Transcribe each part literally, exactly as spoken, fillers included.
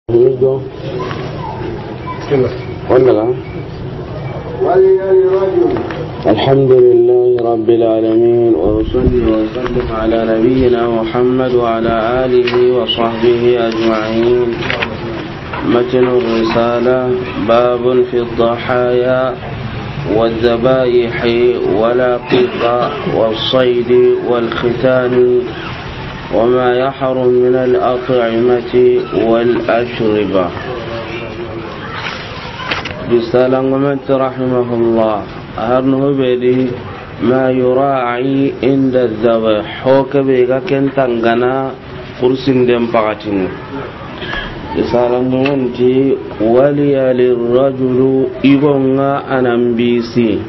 Wanda la. الحمد لله رب العالمين، وأصلي وأسلم على نبينا محمد وعلى آله وصحبه أجمعين. متن الرسالة. باب في الضحايا والذبائح والعقيقة والصيد والختان وما يحرم من الأطعمة والأشربة. Risalangumen ti رحمه الله, a har no be di, ما يراعى عند الذبح, ho ke be ga ken tangana kursinden paxatini. Risalangumen ti, وليل الرجل, i go ŋa a nan bisi.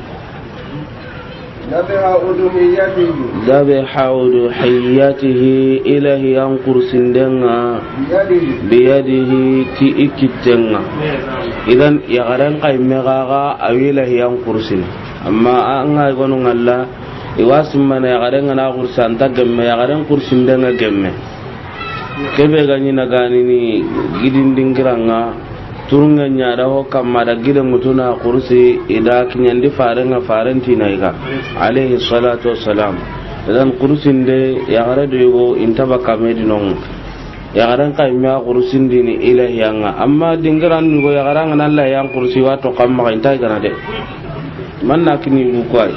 ذبح أضحيته. ذبح أضحيته, i lahiyan kursinden ŋa. بيده. بيده, ti i kitten ŋa. Idan, yaxaren xa yimme xa ga a wi lahiyan kursini. Amma an ga i gonu ŋalla, i wa simmana yaxaren ga na kursi, a nta gemme, yaxaren kursinden ŋa gemme. Ke be ga ɲi na ganini gidin dingiran ŋa, turunŋe ɲa da ho kamma da gide ŋutu na kursi, i da kiɲandi faren ŋa, faren ti na i ga, alayhi salatu wassalam. Idan kursinde, yaxare do yogo i nta bakka me di no ŋa. Yaxaren xa yimme a kursindini i lahiyan ŋa. Amma dingiran ni go yaxaren ga na lahiyan kursi, wa to kamma xa i nta i ga na de. Man na kini bu kwai.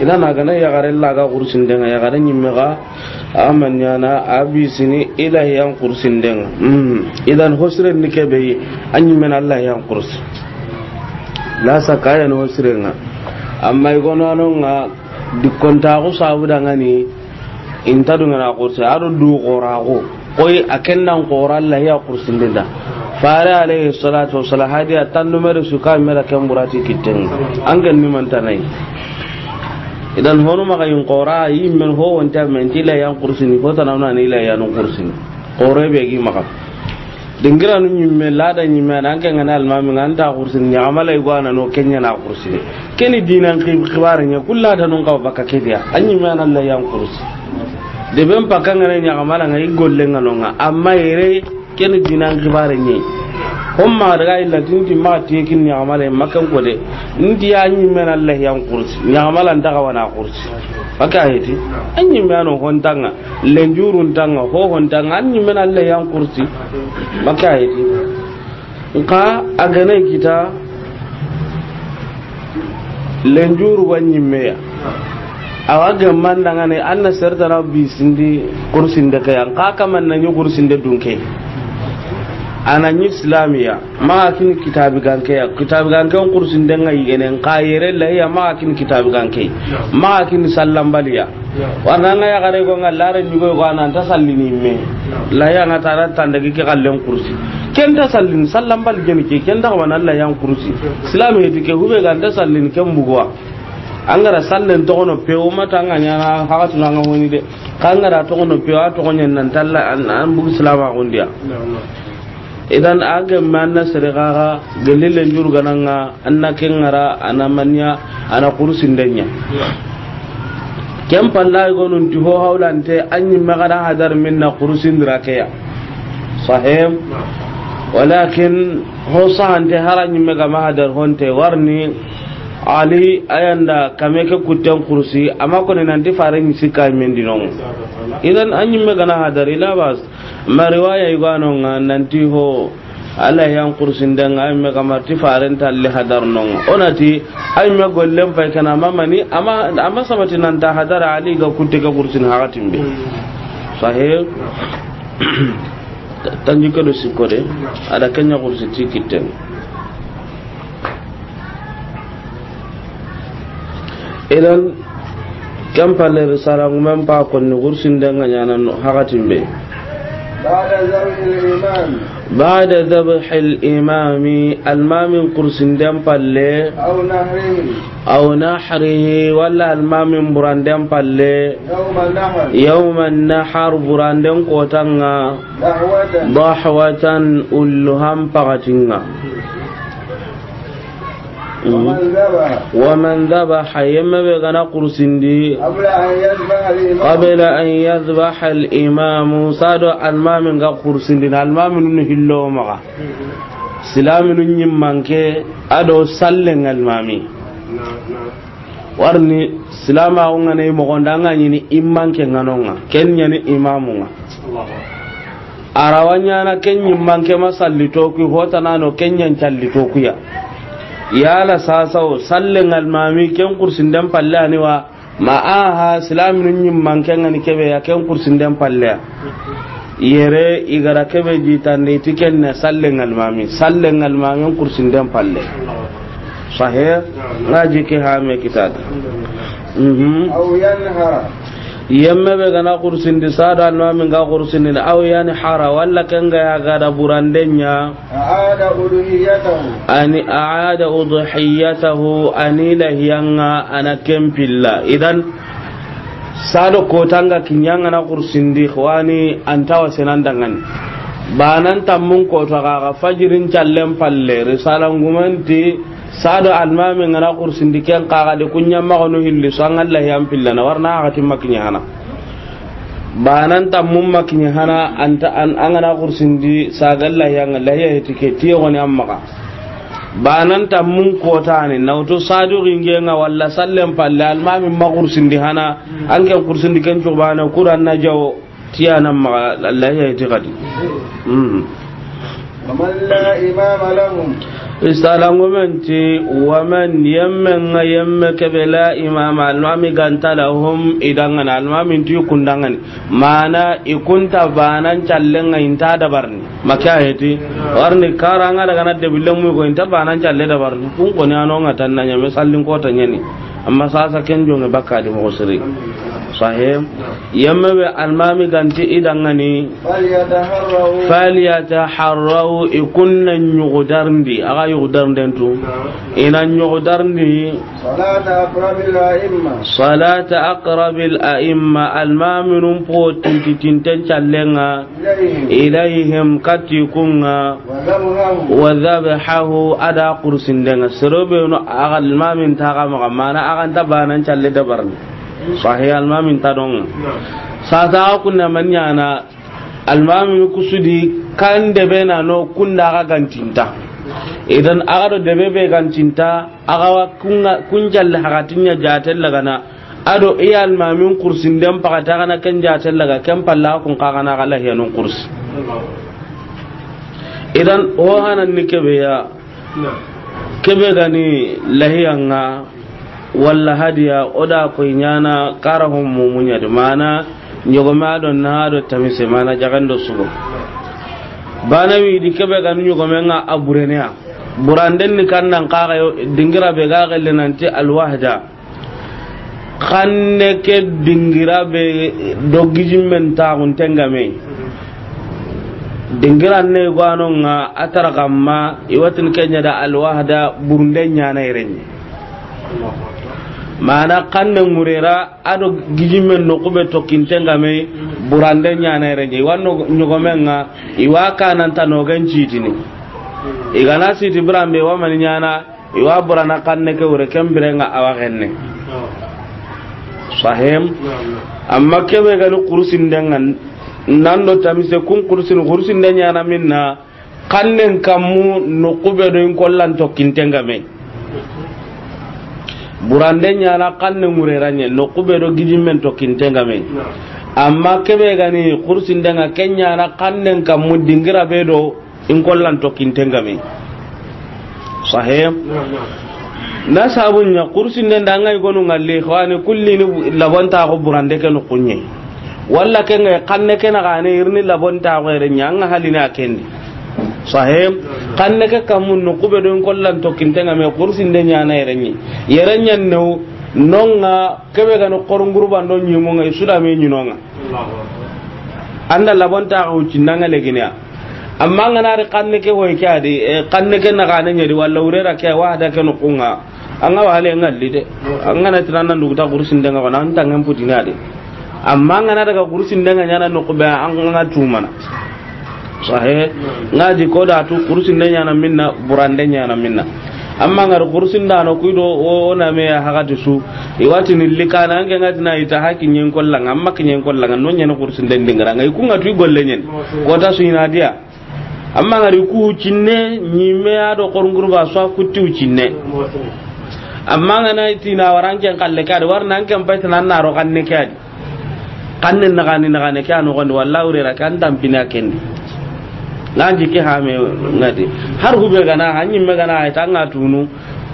Idan a ga na yaxaren laga kursinden ŋa, yaxaren yimme ga a ma ɲaana a bisini i lahiyan kursinden ŋa. Mhm. Idan ho siren ni ke be yi, a ɲimmen a lahiyan kursi. La sakka yan ho siren ŋa. Amma i gono a no ŋa, dikkontaxu sabu dangani, i nta dungana kursi, a do du xoraxu. Koy a ken dan xora lahiya kursinden da. Fare alayhi salatu wassalam, hadiya tannu mere su ka mera ken burati kitten ŋa. An ga ni mantanayi. Idan honu maxa yin xora, yimmen ho wonta men ti lahiyan kursini, ho tanawna ni lahiyan kursini. Xore be gi maxa. Dingiranu ɲimme, lada ɲimme, an ke ŋa na almami ŋa, an ta kursini, ɲaxamala i go a na no ken ɲa na kursini. Keni dinan xi-, xibare ɲa, kulla da nun xawa bakka ke di ya. A ɲimme a na lahiyan kursi. Deben pakka ŋa na ɲaxamala ŋa, i golle ŋa no ŋa. Amma yere, keni dinan xibare ɲa. Homma daga illa tinti ma ti kin ɲaxamala, ma ken ko de. Nti a ɲimme na lahiyan kursi. Ɲaxamala nta xawa na kursi. Maka heti. A ɲimme a no hontanŋa. Lenjurun tanŋa, hohon tanŋa, a ɲimmen a lahiyan kursi. Maka heti. Nka a ga na kita lenjuru wa ɲimme ya. A wa gemman dangane, a na sertana bisindi kursinde ke ya. Nka kaman na ɲi kursinde dunke. A na ɲi islamiya. Maxa kini kitabi ganke ya. Kitabi ganke on kursinden ŋa yigene. Nka yere lahiya maxa kini kitabi ganke. Maxa kini sallanbaliya. Warna ŋa yaxare go ŋa lare ɲugo go a na nta sallini me. Lahiya ŋa tara tandagi ke xallen kursi. Ken nta sallini, sallanbali geni ke, ken nta xawa na lahiyan kursi. Silami heti ke hube ga nta sallini ken buguwa. An ga ra sallen toxono pewo mata ŋa ɲana haxatuna ŋa honi de. Xa an ga ra toxono pewo a toxo ɲen nan talla an, an bugu silama xundiya. Idan a gemme an na sere xaxa gelli lenjuru ga na ŋa, an na ken ŋara, a na maniya, a na kursinden ɲa. Ken palla i gonun ti ho hawlante, a ɲimme ga na hadar minna kursindira ke ya. Sahih. Walakin ho sahante hara ɲimme ga ma hadar honte warni Ali a yan da kame ke kutten kursi, a ma koni nanti fare ɲi sikka mendi no. Idan a ɲimme ga na hadar, ila bas. Ma riwaya i go a no ŋa nanti ho, a lahiyan kursinden ŋa, a ɲimme ga ma ti faren talli hadar no ŋa. O na ti, a ɲimme gollen pay kana mamani, a ma, a ma sabati nan ta hadar Ali ga kutte ke kursin haxatin be. Sahih. Tanji ke do sikko de, a da ken ɲa kursi ti kitten. Idan, ken palle risala ŋumen pa konni kursinden ŋa ɲana no haxatin be. بعد ذبح الإمام. بعد ذبح الإمام, almamin kursinden palle. أو نحره. أو نحره, walla almamin buranden palle. يوم النحر. يوم النحر, buranden kotan ŋa. ضحوة. ضحوة, ulluhan paxatin ŋa. ومن ذبح. Wa man dhabaha, yemme be ga na kursindi. قبل أن يذبح الإمام. Qabla an yadhbaha al imamu, sado almamin ga kursindi, na almamin nu hillo maxa. Silaminu ɲimmanke, ado sallen almami. Warni silama o ŋa ne moxo nda ŋa ɲini immanke ŋa no ŋa, ken ɲani imamu ŋa. A ra wa ɲaana ken ɲimmanke ma salli toku, hotana no ken ɲan calli toku ya. Yala sasa o sallen almami ken kursinden palle ani wa, ma aha silaminu ɲimmanke ŋa ni kebe ya ken kursinden palle ya. Yere i ga ra kebe jitande i ti ken ne sallen almami, sallen almami kursinden palle. Sahe, ŋa ji ke ha me kitada. Mhm. أو ينحر. Yemme be ga na kursindi, sado almamin ga kursindi, أو ينحر, walla ken ga ya ga da burandenya. أعاد أضحيته. Ani aada udhiyatahu, ani lahiya ŋa a na ken pilla. Idan, sado kota ŋa kiɲa ŋa na kursindi, xwani, an ta wa senen dangani. Banan tammun kota ga, ga fajirin callen palle, risala ŋumenti, sado almami ŋa na kursindi ken kaga de kuɲa ma gono hilli, so an ga lahiyan pilla na warna a ga timma kiɲa hana. Banan tammun ma kiɲa hana, an ta, an, an ga na kursindi, saga lahiya ŋa, lahiya heti ke, tiye goni an maxa. Banan tammun kota ni, na wuto sadu ginge ŋa walla sallen palle, almami ma kursindi hana, an ken kursindi ken cubana, kuran na jawo, tiya na maxa, lahiya heti kadi. Mm. ومن لا إمام لهم. Risala ŋumenti, wa man, yemme ŋa yemme kebe la imama, almami ga nta lahum, i dangana, almami nti kun dangani. Mana i kunta banan callen ŋa i nta dabarni. Maka heti, warni kara ŋa daga na debille mu ko i nta banan calle dabarni. Kun ko ni a no ŋa tan na ɲame sallin kota ɲani. Amma sasa ken jonge bakka di moxo siri. Sahe. Yemme be almami ga nti i dangani. فليتحروا. Falyataharraw, i kun na ɲugudarndi, a ga yugudarnden tu. I na ɲugudarndi. صلاة أقرب الأئمة. Salata aqrabil a'imma, almaminun po tinti tinten callen ŋa. إليهم. Ilayhim, kati kun ŋa. وذبحه. Wa dhabhahu, a da kursinden ŋa. Sero be no a ga almamin ta ga maxa, mana a ga nta banan calle dabarni. Sahe, almamin ta don ŋa. Sasa a kunna man ɲana, almami kusudi kan debe na no kunda ga gantinta. Idan a ga do debe be gantinta, a ga wa kun ŋa, kun jalle hagatinya jaten lagana. Ado i almamin kursinden pakata gana ken jaten laga, ken palla kun ka gana ga lahiyanun kursi. Idan o hanan ni kebe ya. Kebe gani lahiya ŋa walla hadiya, o da koy ɲana kara hon mumuɲa de, mana ɲogome a do na do tamise, mana jagando sugo. Bana wi di kebe gani ɲogome ŋa a burene ya. Buranden ni kan nan kaga yo, dingira be ga gelle nanti alwahda. Xanne ke dingira be do gijimmen taxunten ga me. Dingira ne gwano ŋa a tara kamma i watin kenya da alwahda, burunde ɲana irenye. Mana xanne ŋurera a do gijimmen no kube tokkinten ga me, burande ɲana irenye. I wa no ɲogomen ŋa, i wa kananta no gan citini. I gana siti birambe wa mani ɲana, i wa burana xanne ke wure ken birenga a wa xenne. Sahem. Amma kebe gani kursinden ŋa nan do tamise kun kursin, kursinde ɲana minna, xannen kammu no kube do in kollan tokkinten ga me. Burande ɲana xanne ŋureranye no kube do gijimmen tokkinten ga me. Amma kebe gani kursinden ŋa ken ɲana xannen kammu dingira be do in kollan tokkinten ga me. Sahe. Naam, naam. Na sabun ɲa kursinden da ŋa i gonu ŋalli, xawani kulli ni labonta ko burande ke no kunye. Walla ke ŋa xanne ke na gane irini labonta ko ere ɲa ŋa halina kendi. Sahe. Xanne ke kammu no kube do in kollan tokkinten ga me, kursinde ɲana irenye. Irenye no nonga kebe gani korun gurban do ɲimu ŋa i sudame ɲinonga. Anda labonta ko cinanga leginiya. Amma an gana ri xanne ke hoy ke adi, eh, xanne ke na gane ɲedi walla wurera ke wahda ke no kunga. An ga wale ŋalli de. An gana tinan nan duguta kursinden ŋa ko nan tangen putini adi. Amma an gana daga kursinden ŋa ɲana no kube an ga tumana. Sahe. Ŋa di ko da tu kursinde ɲana minna, burande ɲana minna. Amma ngari kursin da no kuido o, o na me ya hagati su. I wati ni likana ange ngati na ita haki nyen kollanga, amma ki nyen kollanga, no nyen kursin den dingara. Ngai kunga tu golle nyen. Kota su ina dia. Amma ngari ku cinne, nyi me ya do kornguru ba so kutti cinne. Amma ngana iti na waranke kalle kadi, warna anke mpaita nan na ro kanne kadi. Kanne nagani nagane ke a nogondi, walla wurera ke an tampini a kendi. Nganji ke hame ngadi. Har hube gana, hanyi me gana, ay tanga tunu.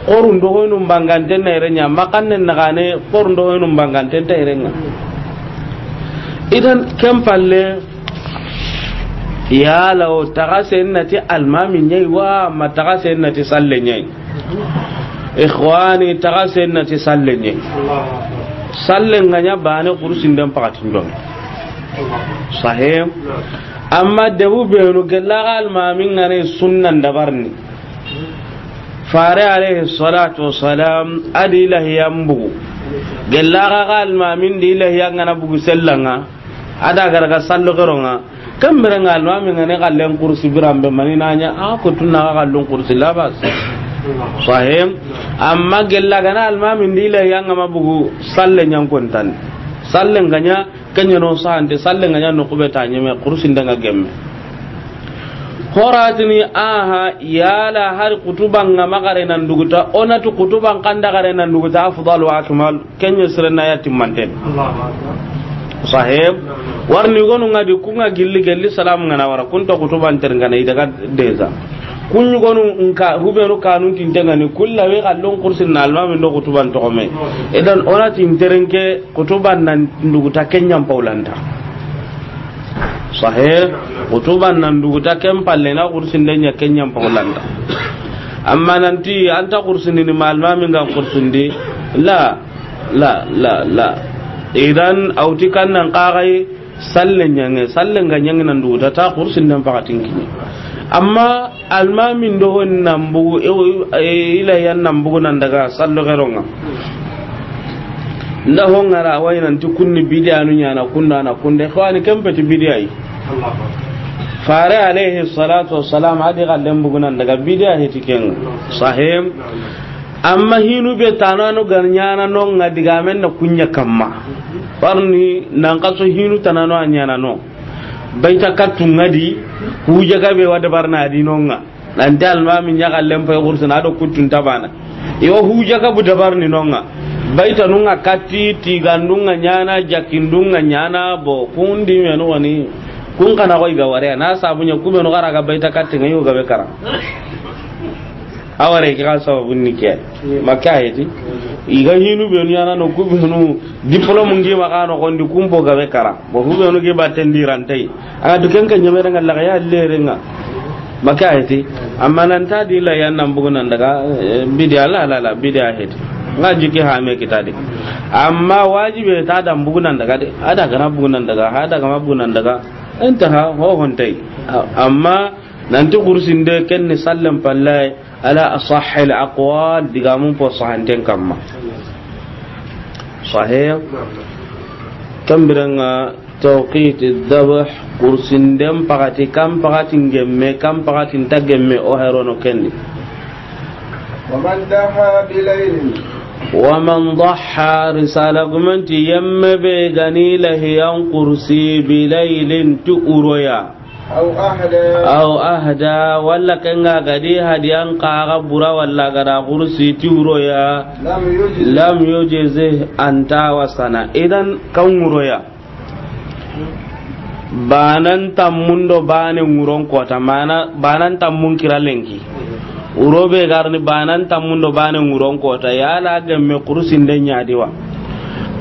Korun do hoynu mbanganten na irenya, ma kanne nagane, korun do hoynu mbanganten ta irenga. Idan ken palle, yala o taga sen nati almami nyai wa, ma taga sen nati salle nyai. Ikhwani, taga sen nati salle nye. Salle nganya bane kursin den pakatin don. Sahih. Amma debu benu gella ga almami ngane sunnan dabarni. Fare alayhi salatu wassalam, adi ilahiyan bugu. Gella ga almamin di ilahiyan ngana bugu sellanga. Ada garaga sallo geronga. Kan bere nga almami ngane kallen kursi birambe mani nanya, a ko tunna ga kallun kursi labas. Sahim. Amma gella gana almami ndi ilahiyan ngama bugu salle nyankontan. Salle nganya kenya no sahante, salle nganya no kubeta nyeme kursi ndanga gemme. Horatini, aha, yala hari kutuba ngama gare nan duguta, onatu kutuban kanda gare nan duguta, afdal wa akmal. Kenya sirena ya timmanten. Allahu Akbar. Sahib. Warni gonu ngadi kunga gilli gelli salam ngana wara kunta kutuban ter ngana idaga deza. Kunyu gonu nka hubenu kanun tintengani kulla we kallon kursin na almami ndo kutuban tokome. Idan ona tinterenke kutuban nan nduguta kenyan paulanta. Sahih. Kutuban nan duguta ken palle na kursin denya kenyan paulanta. Amma nanti anta kursin ni ma almami nga kursin di. La. La, la, la. Idan, auti kan nan kagai, salle nyange, salle nga nyange nan duguta ta kursin nan pakatin kini. Amma, almamin do hon nan bugu, e, e, ila yan nan bugu nan daga, sallo geronga. Nda hon ngara, wai nan ti kunni bidiya nu nyana, kunna na kunde, khawani kempeti bidiya yi. Fare alayhi salatu wassalam, adi kallen bugu nan daga, bidiya heti ken. Sahim. Amma hinu be tanano gar nyana no nga digamen na kunya kamma. Parni nan kaso hinu tanano a nyana no. Baita kattu ngadi huja gabe wa dabarna di no nga. Nanti almami nya kallen pay kursina do kuttun tabana. Yo huja gabu dabarni no nga. Baita nunga katti tigandunga nyana jakindunga nyana bo kundi menu wani. Kun kana koy ga ware na sabunya kubenu gara ga baita katti nga yo gabe kara. Aware ke ga sababu ni ke. Maka heti. Iga hinu benu yana no kubenu diplôme ngi ma kano kondi kumpo gabe kara. Bo kubenu ge batendi rantai. Aga duken ka nyamere nga laga ya lere nga. Maka heti. Amma nan ta di la yan nan bugu nan daga, eh, bidiya la, la, la, bidiya heti. Nga jiki ha me kitadi. Amma wajibe ta dan bugu nan daga de. Ada kana bugu nan daga, ada kama bugu nan daga. Intaha ho hontai. A-, amma Nanti kursinde ken ni sallen palle ala asahhil aqwal, digamun po sahanten kamma. Sahih. Kambiranga tawqit dhabh, kursinden pakati, kan pakati ngemme, kan pakati nta gemme, o herono kendi. ومن ضحى بليل. ومن ضحى, risala gumanti yemme be gani lahiyan kursi bilaylin ti uroya. أو أهدى. أو أهدى, walla kenga gadi hadiyan kaga bura walla gada kursi ti uroya. لم يجزه. Lam yujzih, anta wasana. Idan kan uroya. Banan tammundo bane nguron kota, mana banan tammun kira lenki. Urobe garni banan tammundo bane nguron kota, yala gemme kursinden ɲadiwa.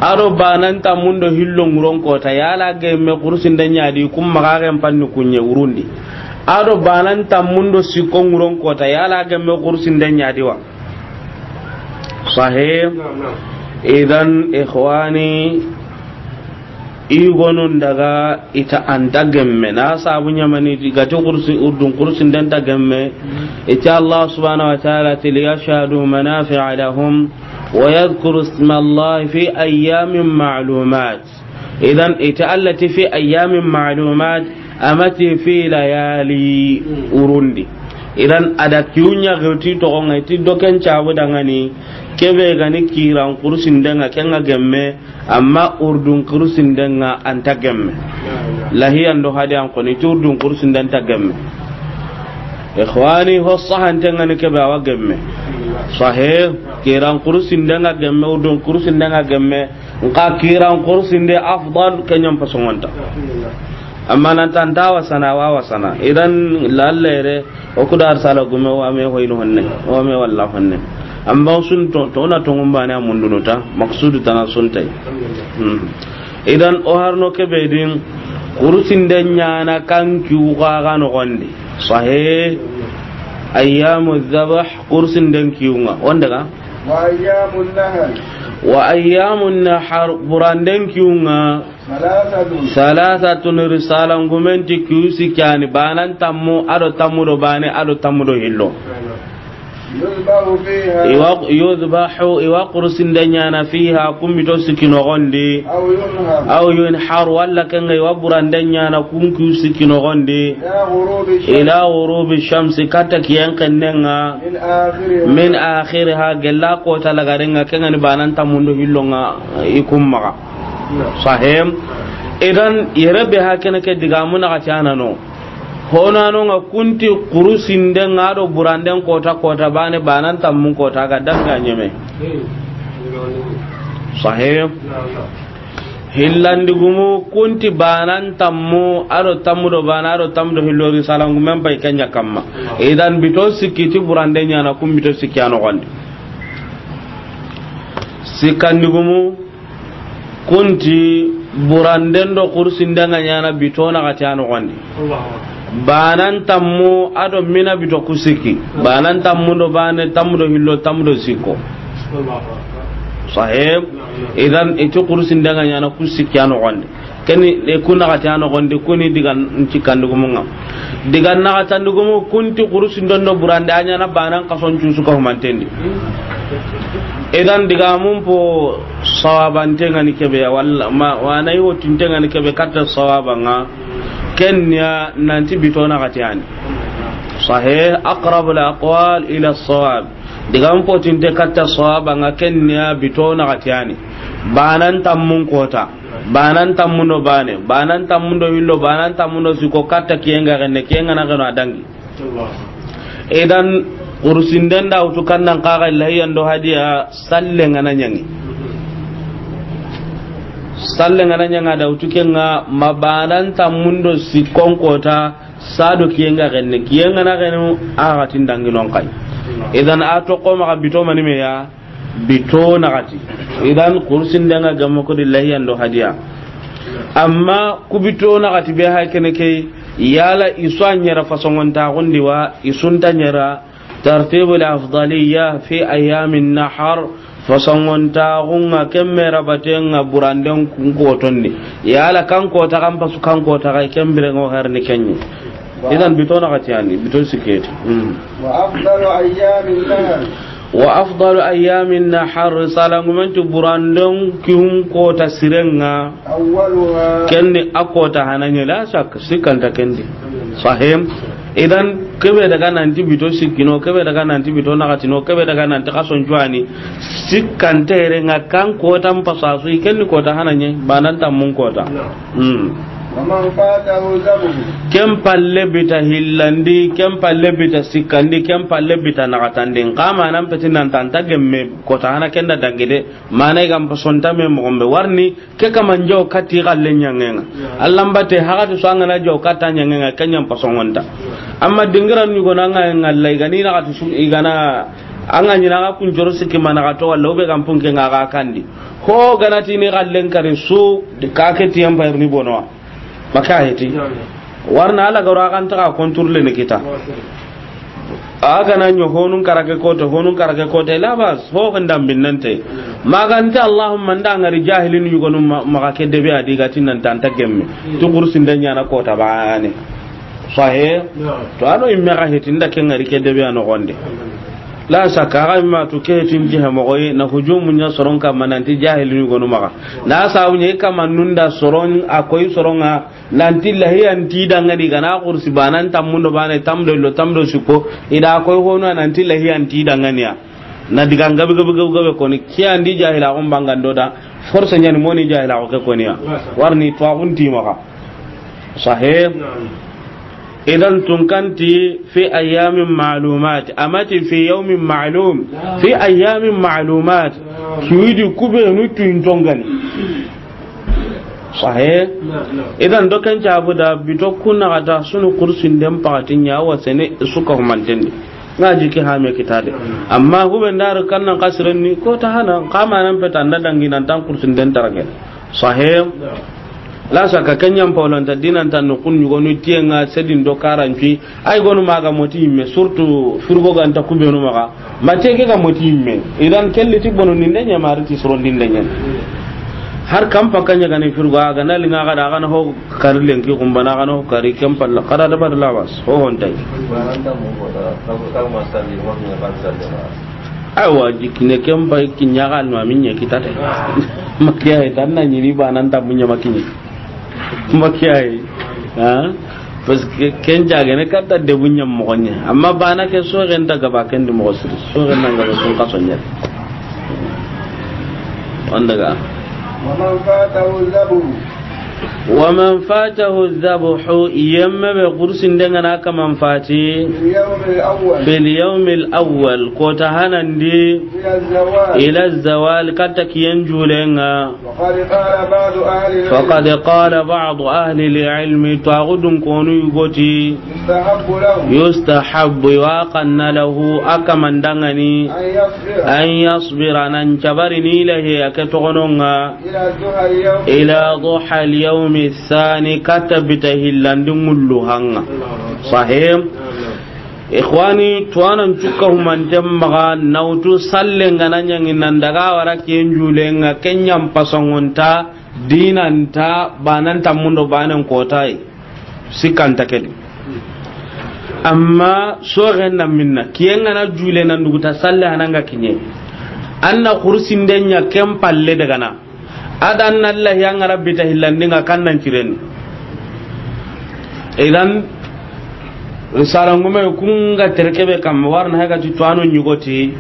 Ado banan tammundo hillo nguron kota, yala gemme kursinden ɲadi, kum magagen panni kunye urundi. Ado banan tammundo sikko nguron kota, yala gemme kursinden ɲadiwa. Sahih. Naam, naam. Idan, ikhwani, igonun daga ita anta gemme na sabu ɲamani gati kursi urdun kursinden ta gemme. Ita Allah subhanahu wa ta'ala ti liyashhadu manafi'a lahum wa yadhkuru isma Allah fi ayyamin ma'lumat. Idan ita Allah ti fi ayyamin ma'lumat, amati fi layali urundi. Idan a da kiyu ɲa xirti toxo ŋa, i ti do ken cabu dangani, kebe gani kiran kurusinden ŋa, ken ŋa gemme, amma urdun kurusinden ŋa a nta gemme. Lahiyan do hadiyan koni, i ti urdun kurusinden nta gemme. Ixwani, ho sahanten ŋa ni kebe a wa gemme. Sahih, kiran kurusinden ŋa gemme, urdun kurusinden ŋa gemme. Nka kiran kurusinde afdal, ken ɲa n pasongonta. Amma nan ta nta wasana, wa wasana. Idan lallere, o ku da risala gume, wa me hoyni honne, wa me walla honne. Amma sun to, to na tongun bane a mundunu ta, maksudu tana sun tay. Hmm. Idan o harno kebe din, kurusinde ɲaana kan kiyu xa ga noxondi. Sahih. Ayyamu dhabh, kurusinden kiyunga. Wondaga? وأيام النحر. Wa ayyamun nahar, buranden kiyunga. ثلاثة. Thalathatun, risalan gumen ti kiyu sikki yani, banan tammu, a do tammu do bane, a do tammu do hillo. يذبح فيها. Iwa, yudhbahu, iwa kurusinde ɲaana fiha, kun bito sikki noxondi. أو ينحر. Aw yunhar, walla ken ŋa iwa buranden ɲaana kun kiyu sikki noxondi. إلى غروب الشمس. Ila ghurubi shamsi, katta kiyen xennen ŋa. من آخرها. Min akhiriha, gella kota lagaren ŋa, ken ŋa ni banan tammun do hillon ŋa, i kun maxa. Sahih. Idan yere be ha ken ke digamu na ga ti a na no. Honano ŋa kun ti kurusinde ŋa do buranden kota, kota bane, banan tammun kota ga danga ɲeme. Sahih. Hillandi gumu kun ti banan tammu, a do tammu do bane, a do tammu do hillo, risalan gumen pay ken ɲa kamma. Idan bito sikki ti burande ɲaana, kun bito sikki a noxondi. Sikkandi gumu kun ti buranden do kursinden ŋa ɲaana bito naxati a noxondi. Banan tammu a do mina bito ku sikki. Banan tammu do bane, tammu do hillo, tammu do sikko. Sahih. Idan i ti kursinden ŋa ɲaana ku sikki a noxondi. Keni e ku naxati a noxondi, kuni digan cikkandi gumun ŋa. Digan naxatandi gumu kun ti kurusinden do burande a ɲaana banan kason cusu ka humantendi. Idan digamun po sawabanten ŋa ni kebe ya, walla ma, wa na yi wottinten ŋa ni kebe katta sawaban ŋa. Ken ya nanti bito naxati yani. Sahih, aqrabul aqwal ila sawab. Digamun potinte katta sawaban ŋa ken ya bito naxati yani. Banan tammun kota. Banan tammun do bane, banan tammun do hillo, banan tammun do sikko katta kiyen ga xenne, kiyen ga na xeno a dangi. Idan, kurusinden da wutu kannan kaga lahiyan do hadiya, sallen ŋa na ɲangi. Sallen ŋa na ɲanga da wutu ken ŋa, ma banan tammun do sikkon kota, sa do kiyen ga xenne, kiyen ga na xenu, a ga tin dangi non kay. Idan a to ko ma bito mani me ya, bito naxati. Idan kursinden ŋa gamma ko di lahiyan do hadiya. Amma ku bito naxati be hay kene ke, yala i su a ɲera fasongontaxundi wa, i su nta ɲera, tartibul afdaliya fi ayyamin nahar, fasongontaxun ŋa ken me rabaten ŋa buranden kun kotondi. Yala kan kota kan pasu kan kota kay ken biren ŋo herni kenɲi. Idan bito naxati yani, bito sikketi. Hmm. وأفضل أيام النحر. Wa afdalu ayyamin nahar, salangumen ti buranden kihun kota siren ŋa. أولها. Ken ni a kota hana ɲa, la shak, sikkanta ken di. Sahih. Idan, kebe daga nanti bito sikkino, kebe daga nanti bito naxatino, kebe daga nanti kason cuwani. Sikkanta yere ŋa kan kotan pasasu, ken ni kota hana ɲa, banan tammun kota. Hmm. ومن فاته الذبح. Ken palle bita hillandi, ken palle bita sikkandi, ken palle bita naxatandi. Nxa manan peti nan ta nta gemme kota hana ken da dangi de. Mana i ga n pasonta me moxo be warni, ke kaman jaw katti xalle ɲangenga. Allan bate haxati su an ga na jaw katta ɲangenga, ken ɲan pasongonta. Amma dingiran ɲugo na an ga ŋalla, i ga ni naxati su, i ga na, an ga ɲina an ga kun joro sikki ma naxato, walla o be ga n punke ŋa ga kandi. Ho ga na ti ni xallen kari su, ka ke tiyan payirni bonowa. Maka heti. Warna ala garo a kan ta ka contrôler ni kita. A ga na ɲo honun karage kote, honun karage kote, la bas, ho kan dam binnante. Magante Allahumma nda ngari jahilin yugonu ma, maga ke debe a di ga ti nan ta nta gemme. Tu kursin da ɲana kota bane. Sahih. To a do imme ga heti nda ke ngari ke debe a noxonde. La saka, xa ma tu ke tin jihe moxo yi, na hujumu ɲa soron kamma nanti jahilinu gonu maxa. Na sabu ɲa i kamma nunda soron, a koy soron ŋa, nanti lahiyan ti dangani gana kursi banan tammundo bane tamdo lo tamdo siko, i da koy hono nanti lahiyan ti danganiya. Na diga ngabe gabe gabe gabe koni, kiya ndi jahila gon bangando da, force ɲani moni jahila ko ke koniya. Warni to agun ti maxa. Sahih. Idan tunkanti fi ayyamin ma'lumat, amati fi yawmin ma'lum, fi ayyamin ma'lumat. Kiwidi kubenu tuintongani. Sahih. Idan doken cabu da bito kunna kata sunu kursin den pakatin ya wasene suka humantendi. Nga jiki hame kitade. Amma hube ndar kannan kasiren ni ko ta hana kama nan peta nda dangi nan tan kursin den tarage. Sahih. La saka kenyan paulanta dinanta no kun yugo nu tienga sedin do karanci. Ay gonu maga moti yimme, surtout frigo ganta kubenu maga. Mate ke ga moti yimme. Idan kelli ti bono ninde nya mari ti soro ninde nya. Har kam pakanya gani frigo aga na linga ga da ga na ho kari lenki kumbana ga na ho kari kempal kada da bad lawas. Ho hontai. Aywa, jikine kempa kinya ga no aminye kitate. Makiya tan na nyiri banan ta munya makinye. Makiyayi. Ha? Parce que ken jagene katta debu ɲam moxo ɲe. Amma bana ke soxen ta gaba ken di moxo siri. Soxen na gaba sun kaso ɲe. Wanda ga. ومن فاته الذبح. ومن فاته الذبح, yemme be kursin denga na kaman fati. في اليوم الأول. في اليوم الأول, kota hanandi. إلى الزوال. إلى الزوال, katta kiyen julenga. وقد قال بعض أهل العلم. فقد قال بعض أهل العلم, tuwaxudun konu yugoti. يستحب له. يستحب, yo a xanna lahu, a kaman dangani. أن يصبر. أن يصبر, nan cabari ni lahiya ke toxononga. إلى ضحى اليوم. إلى ضحى اليوم الثاني, katta bita hillandi ŋullu hanga. Sahih. Ikhwani, tuwanan cukka humanten maxa, nawtu sallen gana ɲangi nan daga wara ken julenga, ken ɲan pasongonta, dinanta, banan tammundo banen kotayi. Sikkanta kedi. Amma soxen na minna, kiyen gana jule nan duguta salle hananga kiɲe. Anna kursinden ɲa ken palle dagana. Adan Allah ya ngara bita hillandinga kannan cireni. Idan, risala ngume kunga terkebe kam warna haga ti tuwano nyugoti.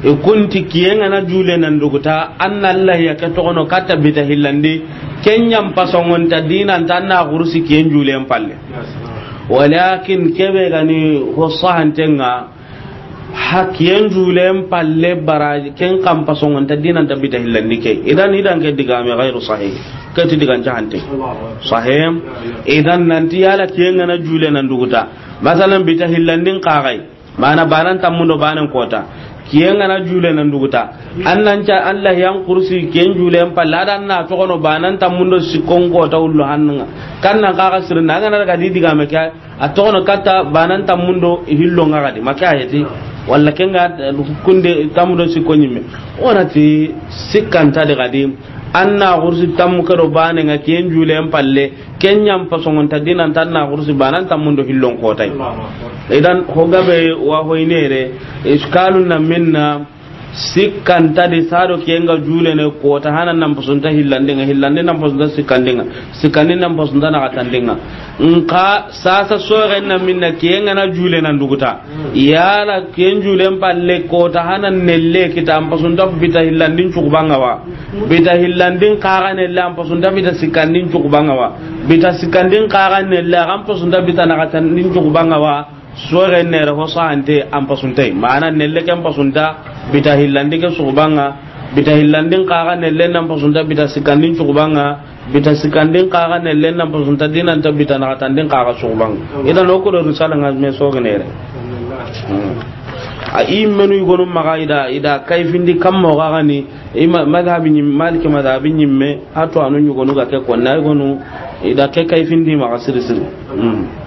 E kunti kiyen gana jule nan duguta, anna Allah ya ke toxono katta bita hillandi, ken ɲan pasongonta dinanta anna kursi kiyen julen palle. Walakin kebe gani ho sahantenga, ha kiyen julen palle baraji, ken kan pasongonta dinanta bita hillandi ke. Idan, idan ke digame gairu sahih. Ke ti digan cahante. Sahih. Idan nanti yala kiyen gana jule nan duguta. Masalan, bita hillandin kagai. Mana banan tammundo banen kota. Kiyen gana jule nan duguta. Annan ca Allah yan kursi kiyen julen palle adan na toxono banan tammundo sikkon kota ullo hannunga. Kannan kaga sirna gana daga di digame ke. A toxono katta banan tammundo hillonga gadi, maka ayeti. Walla kenga, eh, kunde tammundo sikko ɲimme. Onati sikkanta de gadi. Anna kursi tammu kedo banenga kiyen julen palle. Ken ɲan pasongonta dinanta anna kursi banan tammundo hillon kotay. Idan, ho gabe wa hoynere, iskalun na minna, sikkanta di sado kiyenga julene kota hanan nan pasunta hillandinga, hillandi nan pasunta sikkandinga, sikkandi nan pasunta naxatandinga. Nka sasa soxen na minna kiyenga na jule nan duguta. Yala kiyen julen palle kota hanan nelle kita an pasunta bita hillandin cukubanga wa. Bita hillandin kaga nelle an pasunta bita sikkandin cukubanga wa. Bita sikkandin kaga nelle an pasunta bita naxatandin cukubanga wa. Soxen nere ho sahante an pasuntay. Mana nelle ken pasunta bita hillandi ke sugubanga. Bita hillandin kaga nelle nan pasunta bita sikkandin sugubanga. Bita sikkandin kaga nelle nan pasunta dinanta bita naxatandin kaga sugubanga. Idan o kodo risala nga me soxen nere. Hmm. A i menu yugonu maxa ida, ida kayfindi kammo gagani. Ima madhabi ɲim-, Maliki madhabi ɲimme, a to anu ɲugonu ga ke konna yugonu, ida ke kayfindi maxa siri siri. Hmm.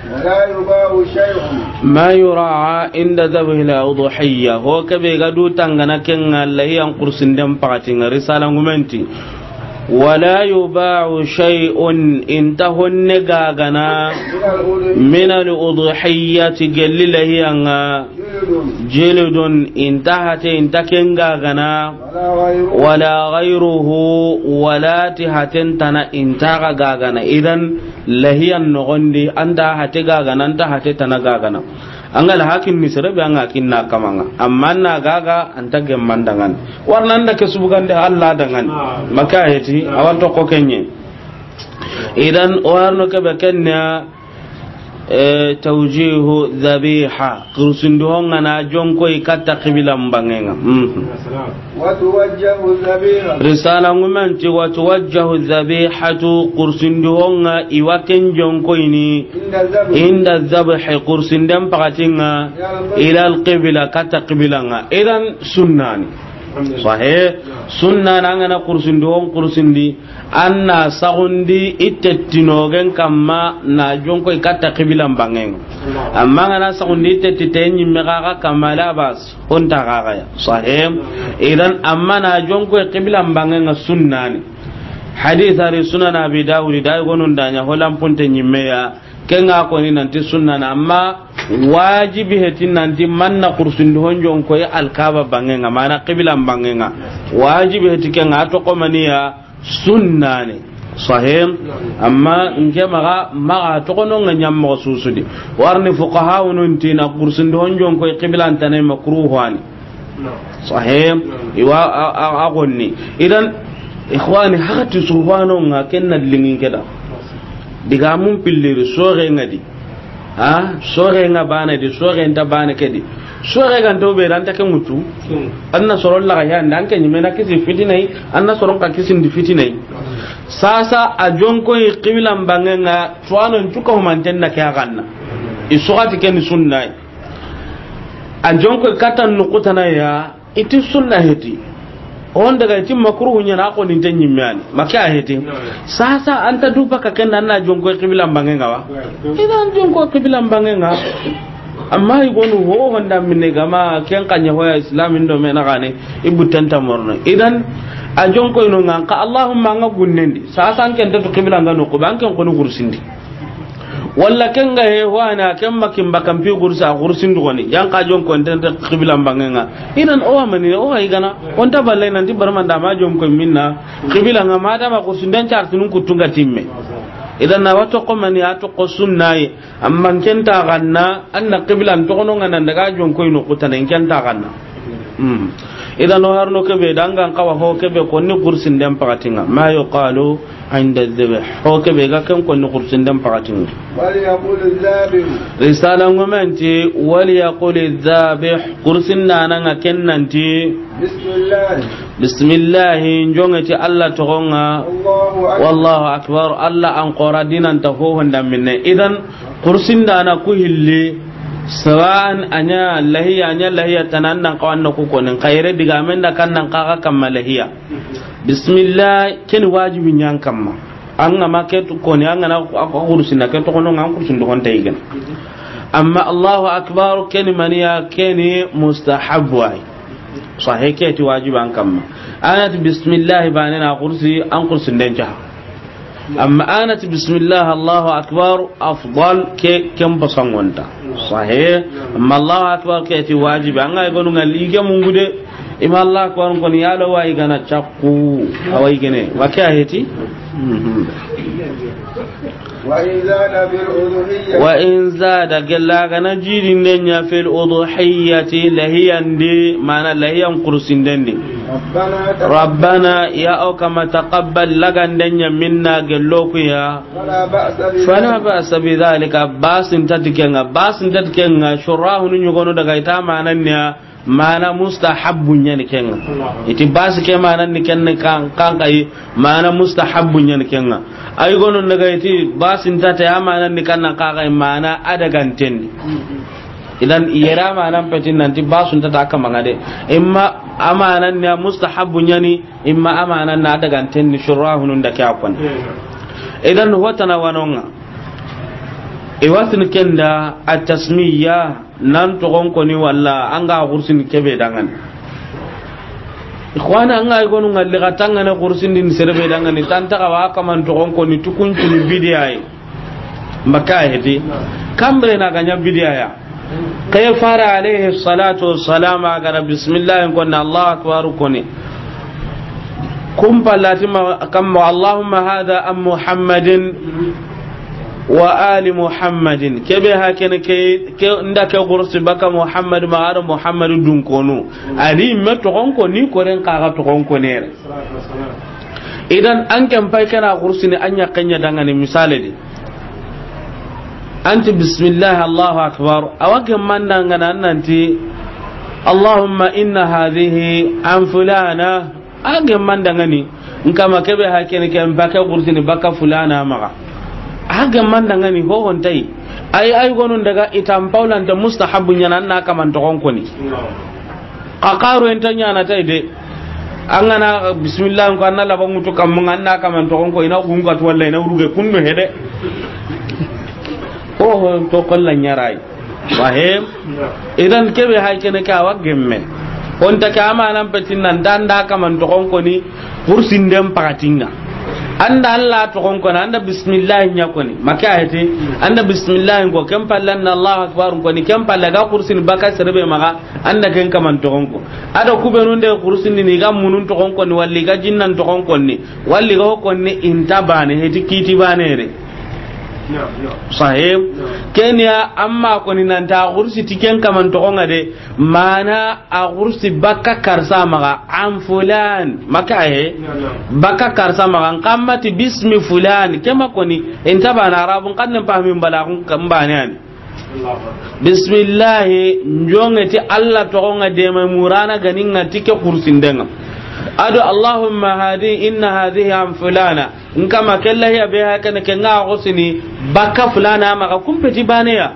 ولا يباع شيء. ما يراعى عند ذبح الأضحية. Ho kebe ga du tangana kenga lahiyan kursinden pakatinga risala ngumenti. ولا يباع شيء, inta honne gagana, من الأضحية, gelli lahiyanga. Jeludun, inta hate, inta ken gagana. Wala ghayruhu, wala ti haten tana inta ga gagana. Idan, lahiyan nogondi, anta hate gagana, anta hate tana gagana. An ga la hakin ni sere be an ga kinna kamanga. Amma na gaga anta gemmandangan. Warna an da ke subugande Allah dangan. Maka heti, awan to ko kenye. Idan, o harno ke be kenna, eh, tawjihu dhabiha. Kursundu honga na jonko i katta qibila mbangenga. Mhm. Wa tuwajjahu dhabiha. Risala ngumanti wa tuwajjahu dhabihatu, kursundu honga iwa ken jonko ini. Inda dhabh. Inda dhabh, kursunden pakatinga. Ila al-qibla, katta qibilanga. Idan sunnani. Sahih. Sunna na ngana kursundi, on kursundi, anna sagundi itettinogen kamma na jonko i katta qibila mbangenga. Amma ngana sagundi itetti te nyimme gaga kamma la bas, on ta gaga ya. Sahih. Idan amma na jonko i qibila mbangenga sunnani. Hadith ari Sunan Abi Dawud, dai gonun danya holan punte nyimme ya. Kenga koni nanti sunna na, amma wajibi heti nanti manna kursundi honjon koy alkaba bangenga, mana qibla bangenga. Wajibi heti kenga to komaniya sunna ne. Sahih. Amma nke maga, maga to kono nga nyammo susudi. Warni fuqaha unun tina kursundi honjon koy qibla antane makruh wani. Sahih. Iwa a, a, a gonni. Idan, ikhwani, hakati subhano nga kenna lingin keda. Diga mun pilliri soge nga di. Ha? Soge nga bana di, soge nta bana kedi. Soge ga nto be ranta ke mutu. Anna soron la ya ndan ke nyimena kisi fitinai, anna soron ka kisi ndi fitinai. Sasa a jonko i qibla mbangenga, tuwano ntuka humanten na ke aganna. Isogati ken sunnai. A jonko katan nukutana ya, iti sunna heti. On daga iti makruhu nyana ko ni tanyi mani. Maka heti. Sasa anta duba ka kenda na jonko qibla mbangenga wa. Idan jonko qibla mbangenga. Amma i gonu ho honda minne gama ken kanya hoya Islam indo me na gane. Ibu tanta morno. Idan a jonko ino nganka Allahumma nga gunnendi. Sasa an ken tatu qibla nga no ko ban ken ko no kursindi. Walla ken ga he ho ana ken makin bakan pi gursa gursin dugoni. Yan ka jonko ntenta qibla mbangenga. Idan o amani o ay gana. On ta balle nanti barmanda ma jonko minna. Qibla nga ma da ma gursin den chartunun kutunga timme. Idan na wato ko mani ato ko sunnaye. Amma ken ta ganna, anna qibla ntokono nga nan daga jonko ino kutana ken ta ganna. Hmm. Idan o harno kebe dangan kawa ho kebe ko ni kursin den pakatinga. Ma yuqalu inda dhabh. Ho kebe ga ken ko ni kursin den pakatinga. Wal yaqul dhabh. Risala ngomenti wal yaqul dhabh. Kursin nana nga ken nanti. Bismillah. Bismillah, njongeti Allah togonga. Allahu akbar. Wallahu akbar. Allah an qora dinan ta ho honda minne. Idan Kursin da na ku hilli, sawa'an anya lahiya, anya lahiya tanan nan kawan na ku konin, kayre diga men da kan nan kaga kamma lahiya. Bismillah, ken wajibi nyan kamma. An ga ma ke tu koni, an ga na ku, ku kursin na ke tokono nga kursin do kon tayigen. Amma Allahu akbar, ken maniya, ken mustahabbu ay. Sahih ke ti wajibi an kamma. Anati bismillah bane na kursi, an kursin den jaha. Amma anati bismillah, Allahu akbar, afdal ke, ken basangonta. Sahih. Amma Allahu akbar ke ti wajibi. An ga gonu ngali ke mungude. Ima Allahu akbar kon yalo wa i gana chakku. Awa i gene. Wa ke heti? Mhm. Wa in zada fil udhiyya. Wa in zada gella gana jidinde nya fil udhiyyati lahiyandi, mana lahiyan kursindendi. Rabbana taqabbal. Rabbana, ya o kama taqabbal lagandenya minna gellokuya. Fala ba'sa bi. Fala ba'sa bi dhalika, basin tatikenga, basin tatikenga, shurahunu nyugono daga ita mananya, mana mustahabbu nyani kenga. Iti basi ke mana ni ken kan, kan kai, mana mustahabbu nyani kenga. Ay gono daga iti basi ntate a mana ni kan kan kai, mana adaganten. Idan yera mana petin nanti basu ntate aka mangade. Imma amana ni mustahabbu nyani, imma amana na adaganten ni shurahunun da kya kon. Idan hotana wanonga. Iwasin kenda at-tasmiya. Nan togon koni walla an ga kursin kebe dangan. Ikhwana an ga gonu ngalli ga tangana kursin din serbe dangan, tan ta wa kaman togon koni tukuncunu bidiyaye. Maka hedi. Kambre na ganya bidiya ya. Ke fare alayhi salatu wassalam a ga ra bismillah koni, Allahu akbar koni. Kun pallati ma kamma, Allahumma hadha an Muhammadin wa ali Muhammadin. Ke be ha kene ke, ke nda ke gursi baka Muhammad ma aro Muhammadu dunkonu. A ni me toxon koni, koren kaga toxon koni yere. Idan an ken pay kana gursi ni an ya kenya dangani misale di. Anti bismillah, Allahu akbar. Awa gemma ndangana nanti, Allahumma inna hadhihi an fulana. A gemma ndangani. Nkama ke be ha kene ke mbaka gursi ni baka fulana maga. A gemma ndangani ho hontai. Ay, ay gonun daga itam paulanta mustahabu nyana na kaman toxon koni. A xaro enta ɲana tay de. An ga na bismillah ko, an na laban ŋutu kammu, an na kaman toxon ko, i na gunga to walla i na uruge kundu hede. Oho, to kolla ɲarai. Wahem. Idan ke be hay kene ka wa gemme. On ta ka amanan petin nan danda kaman toxon koni. Kursinden pakatinga. Anda Allah toxon koni, anda bismillah ɲa koni. Maka hete, anda bismillah ko, ken palle na Allahu akbar koni, ken palle ga kursin baka serebe maga, anda ken kaman toxon ko. Ado kubenun de kursin ni ga munun toxon koni, walli ga jinnan toxon koni, walli ga koni inta bane, heti kiti bane re. Sahib. Kenya amma koni nanta kursi ti ken kaman toxon de. Mana a gursi baka karsa maga, an fulan, maka he, baka karsa maga, nkammati bismi fulan, kema koni, inta bana arabun kan nan pahmi mbalagun kan bane ani. Bismillah, njonge ti Allah toxon ŋa dema murana ganin ŋa ti ke kursindenga. Ado Allahumma hadi, inna hadhihi an fulana. Nkama kella hiya be ha kene ke nga gusini baka fulana maga kumpeti baneya.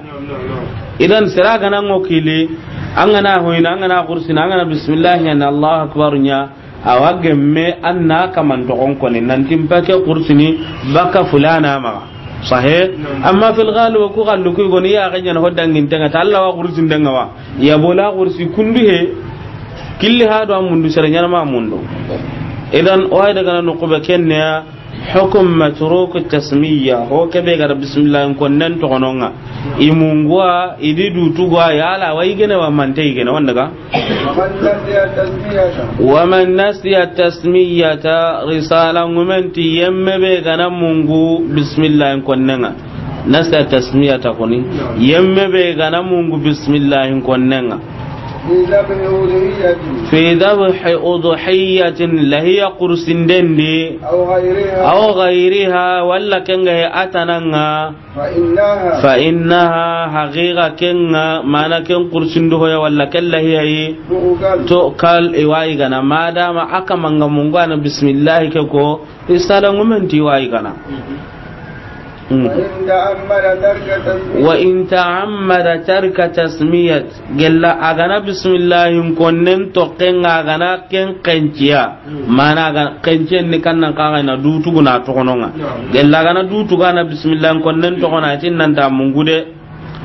Idan sira gana ngo kili, an gana hoyna, an gana kursina, an gana bismillah ɲa na Allahu akbar ɲa, awa gemme an na kaman toxon koni, nanti mpake kursini baka fulana maga. Sahe? Amma fil ghalib ku gallu ku goni ya ga ɲana ho dangin tenga ta Allah wa kursin danga wa. Ya bola kursi kundu he, killi ha do amundu sere ɲana ma mundu. Idan o hay daga no ko be kenne ya, hukum matruk tasmiya, ho ke be gara bismillah konnen toxononga. I mungwa, i di dutugwa, yala wa i gene wa mante i gene, wanda ga? ومن نسي التسمية. ومن نسي التسمية، risala ngumenti yemme be gana mungu bismillah konnenga. Nasiya tasmiyata koni. Yemme be gana mungu bismillah konnenga. في ذبح أضحية. في ذبح أضحية، lahiya kursindendi. أو غيرها. أو غيرها، walla kenga he atananga. فإنها. فإنها، haqiqa kenga, mana ken kursindu hoya walla ken lahiyayi. تؤكل. تؤكل، iwayi gana. Madama aka manga mungu ana bismillah ke ko, risala ngumenti iwayi gana. Mm. وإن تعمد ترك تسمية. وإن تعمد ترك تسمية. Gella a gana bismillahin konnen toxenga a gana ken kenciya. Mana a gana kenciyen ni kannan kaga ina dutuguna toxononga. Gella a gana dutuga na bismillahin konnen toxona a tin nanta mungude.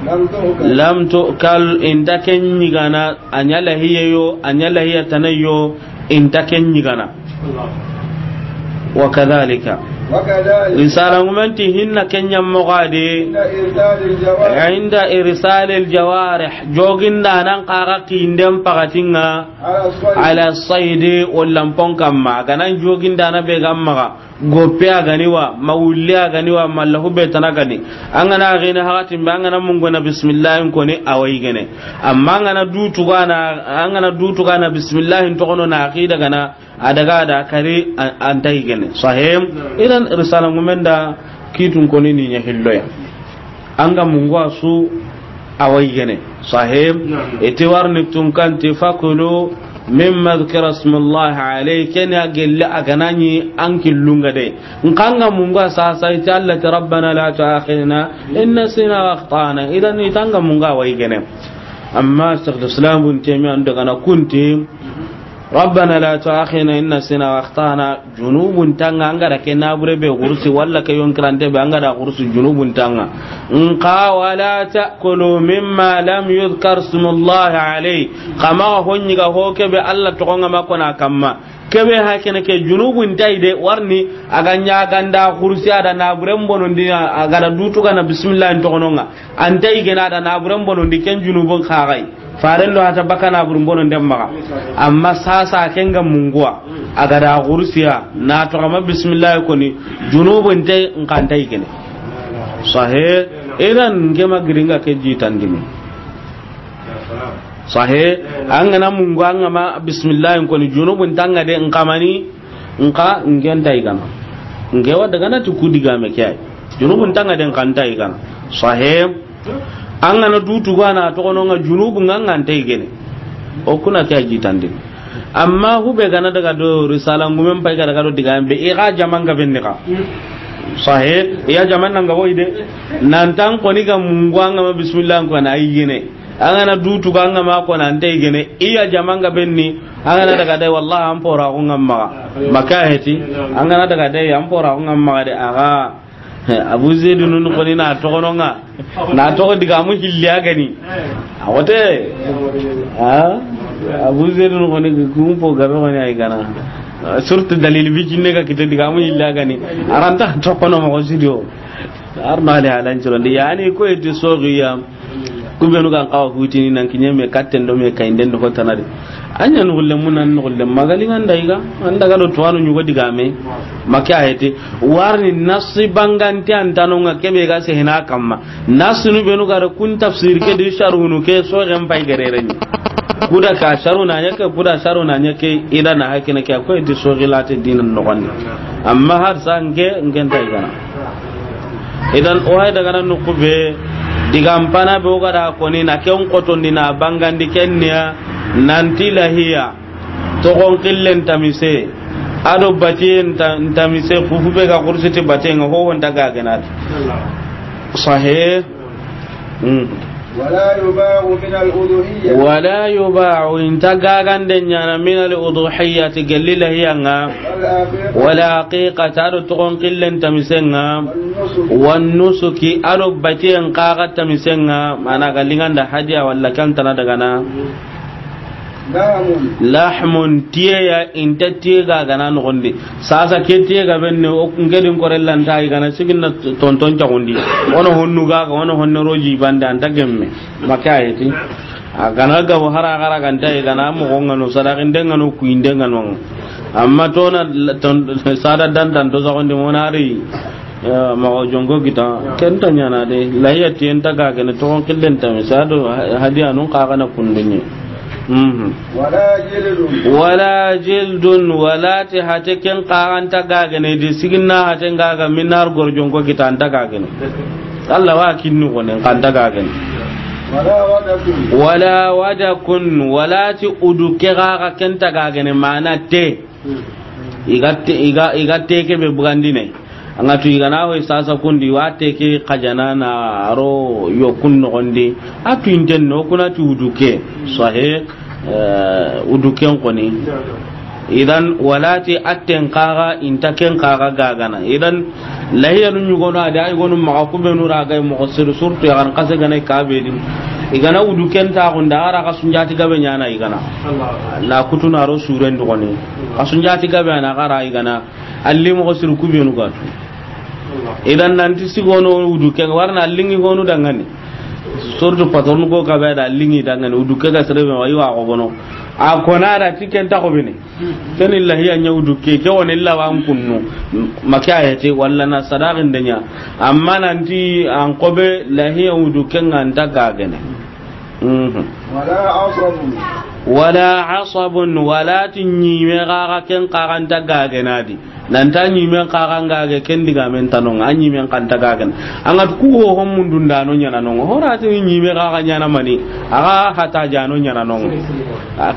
لم تؤكل. لم تؤكل، inta ken ɲigana, a ɲa lahiye yo, a ɲa lahiya tanayo, inta ken ɲigana. وكذلك. وكذلك. Risala ngumenti hinna kenya mogadi. عند إرسال الجوارح. عند إرسال الجوارح. Joginda nan kaga kinden pakatinga. على الصيد. على الصيد، wallan pon kamma. Ganan joginda na be gamma. Goppe a gani wa, ma wulli a gani wa, ma lahu be tana gani. An gana gene hakatin be, an gana mungona bismillah koni awayi gene. Amma an gana dutuga na, an gana dutuga na bismillah toxono na aqida gana, a daga da kari an, an tayi gene. Sahim. Idan risala ngumenda kitun koni ni ɲa hilloya. An ga mungu a su awayi gene. Sahib. Iti warni tunkanti فكلوا مما ذكر اسم الله عليه. Kenya gelle a ganani an killunga de. Nkanga mungu a sasa iti Allah ti ربنا لا تؤاخذنا إن نسينا وأخطأنا. Idan itanga mungu awayi gene. Amma Sheikh Islam Ibn Taymiyyah ando gana kunti, ربنا لا تؤاخذنا إن نسينا وأخطأنا. Junubun tanga an ga da ke nabure be gursi walla ke yonkirante be an ga da gursi junubun tanga. Nka ولا تأكلوا مما لم يذكر اسم الله عليه. Kama honni ga ho ke be Allah toxonga ma kona kamma. Kebe ha kene ke junubun ta yi de, warni a ga ɲa ganda kursi a da na buren bonondi, a ga da dutu ga na bismillah in toxononga. An ta yi gene a da na buren bonondi ken junubun xaxay. Faren do hata baka na buren bonondi maxa. Amma sasa ken ga munguwa. A ga da kursiya na toxo ma bismillah koni junubun ta yi nkan ta yi gene. Sahe, idan ke ma giringa ke jitandini. Sahe, an ga na mungu an ga ma bismillah koni junubun tanga de nkamani, nka ngen ta yi gana. Nge wa daga na ti ku digame ke ay. Junubun tanga de nkan ta yi gana. Sahe, an ga na dutu ga na toxononga junubun ga ngan ta yi gene. O kuna ke jitandini. Amma hube ga na daga do risala ngumen pay ga daga do digame be i ga jaman ga benni ka. Sahe, i ya jaman nan ga woy de. Nan tan koni ga mungu an ga ma bismillah ko na yi gene. An ga na dutu ga an ga ma ko nan ta yi gene. I ya jaman ga benni. An ga na daga de wallahi an pora ko ngam maxa. Maka heti. An ga na daga de an pora ko ngam maxa de a ga. Abu Zaidu nun koni na toxononga. Na toxo digamu hilli a gani. A wote. Ha? Abu Zaidu nun koni kun po gabe koni ay gana. Surtout dalil bi jinne ga kite digamu hilli a gani. Aranta toxono mo sidio. Arno ale alan cirondi yani ko eti sogiya. Ku benu ga n xawa hutini nan kiɲe me katten do me kayinden do hotana de. A ɲa nuxulle mun nan nuxulle magali nganda i ga an daga do tuwanu ɲugo digame. Make a heti warni nasi bangante antanonga kebe ga sehena kamma. Nasinu benu ga da kun tafsir ke di sharhunu ke sogen pay gerere ni. Kuda ka sharu na ɲa ke, kuda sharu na ɲa ke, ida na hakina ke ko eti sogilate dinan noxondi. Amma har sa nke, nke nta i gana. Idan o hay daga nan nuku be digan pana be o ga da koni na ken xotondi na bangandi ken niya nanti lahiya toxon xillen tamise ado batiyen ta- tamise fufu be ga kursiti batiyen ho wonta ga genati. Sahe. Mm. ولا يباع من الأضحية. Wala yuba'u inta gagande ɲana min al udhiyati gelli lahiyanga. والعقيقة. Wala aqiqata ado toxon xillen tamisenga. والنسك. Wan nusuki ado batiyen xaxa tamisenga mana ga linganda hadiya walla kantana dagana. لحم. Lahmun tiyeya inta tiye gagana noxondi. Sasa ke tiye ga benne o ngedin korellanta i gana siginna tonton caxundi. Wono honnu gaga wono honne roji bande anta gemme. Maka ayeti. A gana gabo hara gara ganta i gana moxo ngano sadaxinde ngano kuyinde ngano. Amma tona ton- sada dantan to saxondi monari. Maxa jonko kita kenta ɲana de lahiya tiyen ta gagene toxon xillen tame sado hadiya nun xaxana kundunye. Mhm. ولا جلد. Wala jildun wala ti hate ken xaxanta gagene di siginna hate ngaga minar gor jonko kita anta gagene. Allah wa kinni xone xanta gagene. ولا ودك. Wala wadakun wala ti udu ke xaxa kenta gagene mana te. Iga te- iga iga teke be bugandine. Anga tu igana hoy sasa kundi wa teke xajana na aro yokun noxondi. A tu inten no kuna ti uduke. Sahe. Uduken koni. Idan walati atten kaga inta ken kaga gagana idan. Lahiyanu ɲugono adi ay gonu maxa kubenu raga moxo sir surtu yagan kase gana kabedi. Igana uduken taxunda ara ka sunjati gabe ɲana igana. Na kutuna ro suren dugoni. Ka sunjati gabe ana gara igana. Alli moxo sir kubenu gatu. Idan nanti sigono uduke warna allingi gonu dangani. Surtout patron ko kabe da allingi dangani uduke ga sere be wa iwa ko bono. A kona da tiken ta ko bene. Ken illahi a ɲa wudu ke ke woni illa wa an kunnu. Maka ayete walla na sadaqin denya. Amma nanti an kobe lahiya wudu ke nganta gagene. Mhm. Wala asabun. Wala asabun wala ti ɲime gaga ken kaganta gagenadi. Nanta ɲimen kaga ngage ken digamen tanonga a ɲimen kanta gagen. Anga ku ho hon mundundano ɲananonga horati ɲime gaga ɲana mani. Aga hata jano ɲananonga.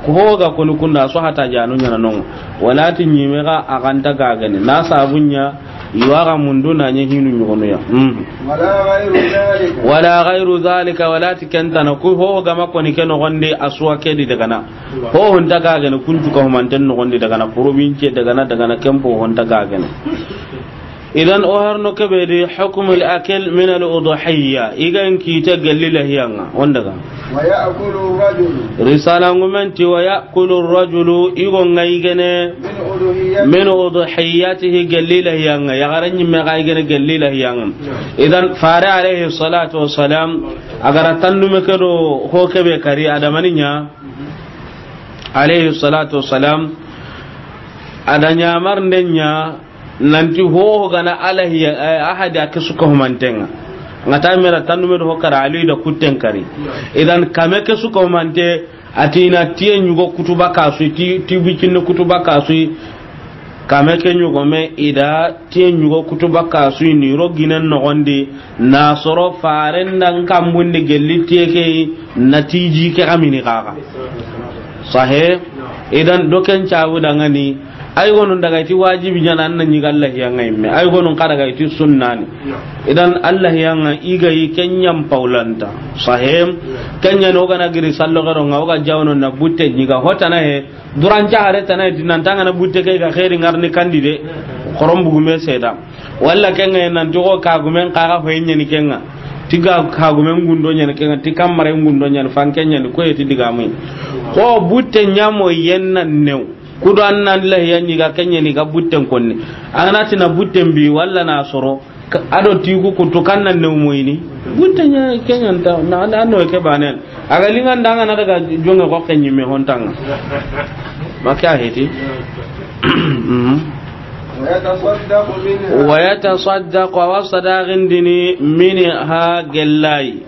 Ku ho ga koni kunda so hata jano ɲananonga. Wala ti ɲime ga a ganta gagene na sabunya. Iwa ga mundu na ɲe hinu ɲugono ya. Mhm. Wala ghayru dhalika. Wala ghayru dhalika wala ti kentana ku ho gama koni ke nogondi aswa kedi dagana. Ho honta gagene kuntu ka humanten nogondi dagana province dagana dagana kempo honta gagene. Idan o harno kebe di hukmul akil min al udhiyya, i ga n kiite gelli lahiya ŋa, o n daga. ويأكل الرجل. Risala ŋumen ti, ويأكل الرجل, i go ŋa i gene, من أضحيته. Min udhiyatihi, gelli lahiya ŋa, yaxare ɲimme ga i gene gelli lahiya ŋa. Idan fare alayhi salatu wassalam, a ga ra tandume ke do ho kebe kari, a da mani ɲa, alayhi salatu wassalam, a da ɲamarnde ɲa, nanti ho gana alahi, eh, ahadi a ke su ka humanten ŋa. Ŋa ta mera tandume do ho kara, Ali da kutten kari. Idan kame ke su ka humante, a ti na tiye ɲugo kutuba kasu, ti, ti bicinni kutuba kasu. Kame ke ɲugo me i da tiye ɲugo kutuba kasu ni ro ginen noxondi, na soro faren da n kambundi gelli tiye ke yi, na tiji ke xa mini xaxa. Sahe, idan do ken cabu dangani, ay gonu n daga i ti wajibi ɲa na, an na ɲi ga lahiya ŋa yimme, ay gonu n xa daga i ti sunnani. Idan lahiya ŋa i ga yi ken ɲa n pawlanta. Sahe, ken ɲa ni o gana giri sallo xero ŋa, o ga jawno na butte ɲi ga hotana he, duran ca hare tana he, ti nan ta ŋa na butte ke ga xeri ŋarni kandi de, xoron bugume seda. Walla ken ŋa nan ti xo kagumen xaxa hoye ɲa ni ken ŋa. Ti ga kagumen gundo ɲa ni ken ŋa, ti kamare gundo ɲa ni, fanke ɲa ni, ko ye ti digamu. Xo butte ɲa mo yen na new. Kudo an na lahiya ɲi ga ken ɲa ni ga butten konni. An na ti na butten bi, walla na soro. Ka-, a do ti ku kutu kan na new moyini. Butte ɲa ken ɲa nta, na, na no ke banen. A ga lingan da ŋa na daga jonge ko ken ɲimme hontan ŋa. Ma ke a heti. Mhm. ويتصدق منها. ويتصدق, a wa sadaqindini, منها, gellayi.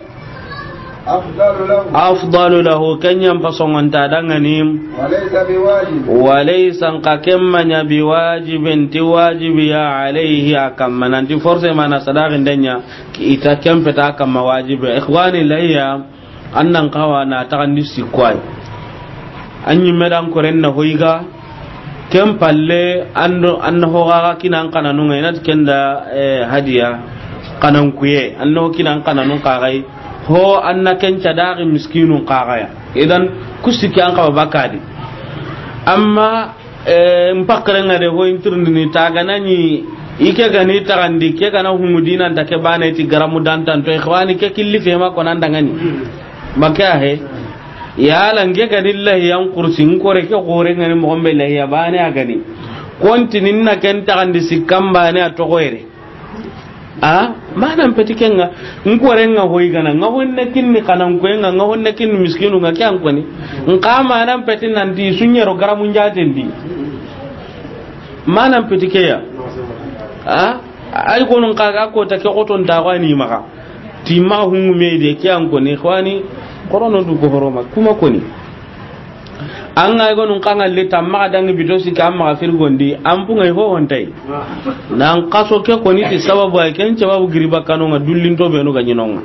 أفضل له. أفضل له, ken ɲa n pasongonta dangani. وليس بواجب. وليس, n xa ken ma ɲa, بواجب, ti wajibi ya, عليه, a kamma. Nanti forcément na sadaqinde ɲa, i ta ken feta kamma wajibi. Ikhwani, lahiya, an nan xawa na taxandi sikko ay. An ɲimme dan koren na hoyi ga, ken palle an do, an na ho ga kini an xananun ŋa, i na ti ken da, eh, hadiya, xanankuye, an na ho kini an xananun xa ga yi, ho an na ken ca daxi miskinun xa ga ya. Idan ku sikki an xawa bakadi. Amma Eh, n pakkaren ŋa de, ho in tirindini, ta ga na ɲi, i ke ga ni taxandi, ke ga na hungu dinan ta ke bane ti garamu dantanto, ikhwani, ke killi fema ko nan dangani. Ma ke a he. Yala n ke ga ni lahiyan kursi, n kore ke xore ŋa ni moxon be lahiya bane a ga ni. Kontini na ken taxandi sikkan bane a toxo yere. A, manan peti ke ŋa, n koren ŋa hoyi gana, ŋa honne kinni xanankuye ŋa, ŋa honne kinni miskinu ŋa, ke an koni. N xa manan peti nanti su ɲero garamu njaten di. Manan peti ke ya. A, ay gonu n xa ga kota ke xoton ta xo ani maxa. Ti maxa hungu me de, ke an koni, xwani, xorono du ko horoma, kuma koni. An ga gonun xa ŋa le tamma ga dangi bito sikki an maxa firgondi, an punŋa i ho hontay. Nan xaso ke koni ti sababu ay ken sababu giri bakkanu ŋa dullinto benu ga ɲi no ŋa.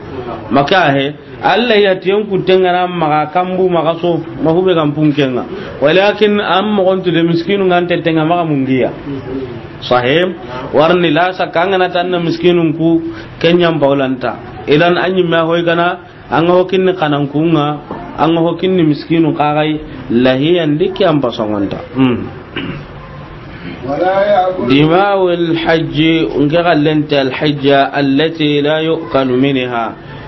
Ma ke a he, Alla ya ti en kutten ŋa na maxa kambu maxa so, ma hube ga n pun ke ŋa. Walakin an moxon tu de miskinu ŋa n tete ŋa maxa mungiya. Sahim, warni la sakka an ga na tan na miskinun ku ken ɲa n bawlanta. Idan an ɲimme a hoy gana, an ga ho kinni xanankun ŋa, an ga ho kinni miskinu xa ga yi, lahiya ndi ke an pasongonta. Hmm. ولا يأكل. دماء الحج, n ke xallente alhajja, التي لا يؤكل منها.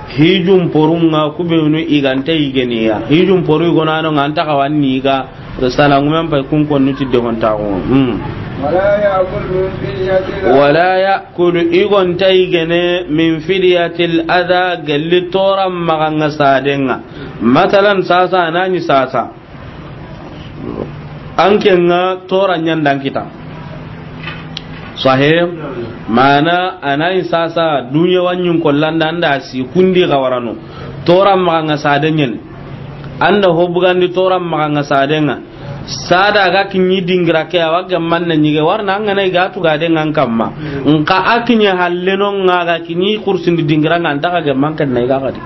Hijun porun ŋa, ku benu i ga nta yigeni ya. Hijun poru i go na no ŋa, an ta xawa ni ga, salangumen pay kun konnu ti de honta go. Hmm. ولا يأكل من فدية. ولا يأكل, i go nta yigene, من فدية الأذى, gelli toran maxa ŋa saden ŋa. Masalan, sasa, a na ɲi sasa. An ke ŋa toran ɲa n da an kita. Sahih, mana a na ɲi sasa, dunya wa ɲi n kollanda, an da si kundi ga warano. Toran maxa ŋa saden ɲa ni. An da ho bugandi toran maxa ŋa saden ŋa. Sada ga kiɲi dingira ke, a wa ga manna ɲige, warna an ga na i ga tuga de ŋa an kamma. Nka a kiɲe halle no ŋa ga kiɲi kursindi dingira ŋa, an ta ga man kan na i ga xadi.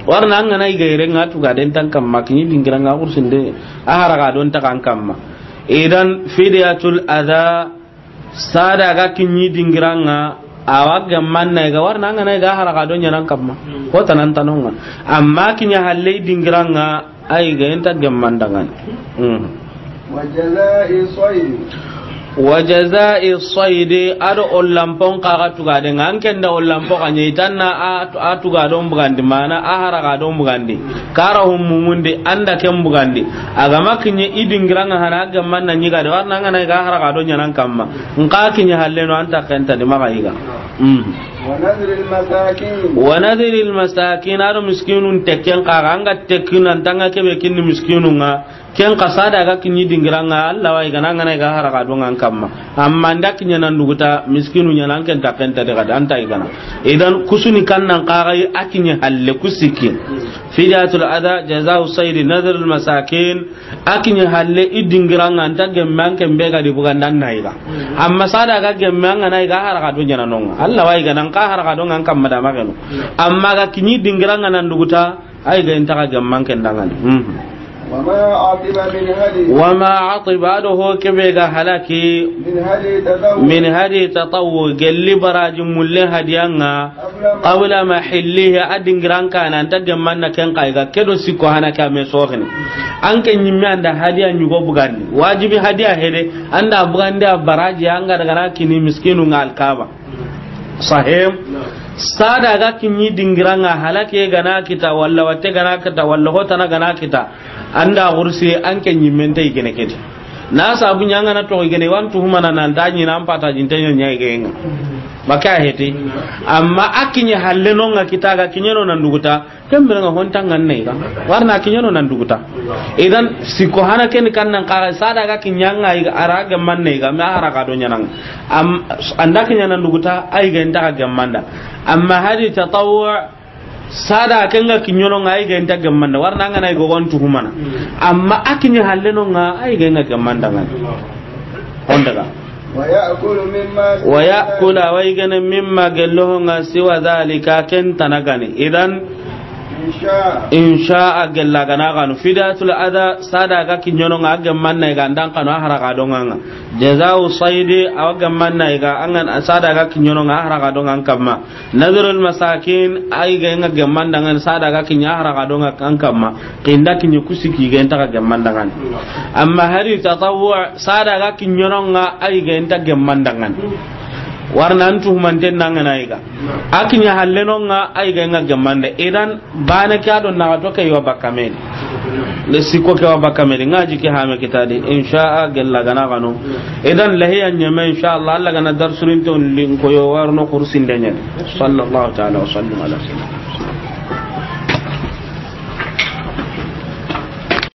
Warna an ga na i ga yere ŋa tuga de n ta an kamma, kiɲi dingira ŋa kursinde, a haraga don ta an kamma. Idan fidiyatul adha, sada ga kiɲi dingira ŋa, a wa ga manna i ga, warna an ga na i ga haraga don ɲa na an kamma. Ko tanan tanon ŋa. Amma kiɲe halle dingira ŋa, ay ga enta gemmandangan. Hmm. وجزاء صيد. Wa jaza'i saydi, a do ollanpon xa ga tugaden ŋa, an ken da ollanpo xa ɲa i tanna a, a tugadon bugandi, mana a haragadon bugandi, kara humumundi, an da ken bugandi. A ga ma kiɲe i dingiran ŋa hana, a gemman na ɲiga de, warna an ga na i ga haragado ɲanan kamma. Nxa kiɲe halle no, an ta kenta di maxa yiga. Mm. Wa nadhril masakin. Wa nadhril masakin, a do miskinun tekken xa ga, an ga tekki nan tanga kebe kinni miskinun ŋa. Ken xa sada ga kiɲi dingiran ŋa, Allah wa i ga na an ga na i ga haragado ŋa an kamma. Amma an da kiɲe nan duguta, miskinu ɲanan ken ta kenta de ga da an ta i ga na. Idan kusuni kan nan xa ga a kiɲe halle kusiki. Fidyatul adha, jaza'u saydi, nadhrul masakin. A kiɲe halle i dingiran ŋa, an ta gemme an ken be ga di bugandan na i ga. Amma sada ga gemme an ga na i ga haragado ɲanan ŋa, Allah wa i ga na an ka haragado ŋa an kamma da mageno. Amma ga kiɲi dingiran ŋa nan duguta, ay ga inta ga gemman ken dangani. Mhm. Wa ma atiba min hadi. Wa ma atiba, a do ho kebe ga halaki. Min hadi tatawwu. Min hadi tatawwu, gelli baraji mulle hadiyan ŋa. Qabla ma. Qabla mahillihi, a dingiran xa na an ta gemman na ken xa i ga, ke do sikko hana ke a me soxini. An ke ɲimme an da hadiya ɲugo bugandi. Wajibi hadiya hede, an da bugandi a baraji, an ga daga na kini miskinu ŋa alkaba. Sahim. Sada ga kiɲi dingiran ŋa, halake ga na kita, walla watte ga na kita, walla hotana ga na kita. An da gursi an ke ɲimmente i gene kedi. Na sabu ɲa an ga na to i gene, wan tuhumana nan ta ɲi nan pata jinte ɲa ɲa i genga. Maka heti. Amma a kiɲe halle no ŋa kita ga kiɲe no nan duguta. Ken bire ŋa honta ŋa an na i ga. Warna a kiɲe no nan duguta. Idan sikko hana ken kan nan xa ga, sada ga kiɲa ŋa i ga, a ra gemman na i ga, ma haragado ɲanan ŋa. Am, an da kiɲa nan duguta, ay ga inta ga gemmanda. Amma hadi tatawwu, sada ken ga kiɲono ŋa, ay ga inta gemmanda. Warna an ga na i ga wan tuhumana. Amma a kiɲe halle no ŋa, ay ga inta gemmanda ŋa. Honda ga. Wa ya'kulu mimma. Wa ya'kula, wa i gene mimma gello ho ŋa siwa dhalika, ken tana gani. Idan, in sha'a. In sha'a gella ga na xanu. Fidyatul adha, sada ga kiɲono ŋa, a gemman na i ga an da an xanu a haragado ŋa ŋa. Jaza'u saydi, a wa gemman na i ga, an ga sada ga kiɲono ŋa, a haragado ŋa an kamma. Nadhrul masakin, ay ga inta gemman dangani, sada ga kiɲa haragado ŋa an kamma. Kinda kiɲi kusiki ga inta ga gemman dangani. Amma hadi tatawwu, sada ga kiɲono ŋa, ay ga inta gemman dangani. Warna an tuhumanten na an ga na i ga. A kiɲe halle no ŋa, ay ga inta gemmanda. Idan, bana ke a do na ga to ke yo bakka medi. Le sikko ke wa bakka medi, ŋa ji ke hame kita di, in sha'a gella ga na xanu. Idan lahiya ɲeme, in sha Allah, Allah ga na darsurin to lin ko yo warno kursin de ɲen. Sallallahu ta'ala wa sallam ala sayyidina.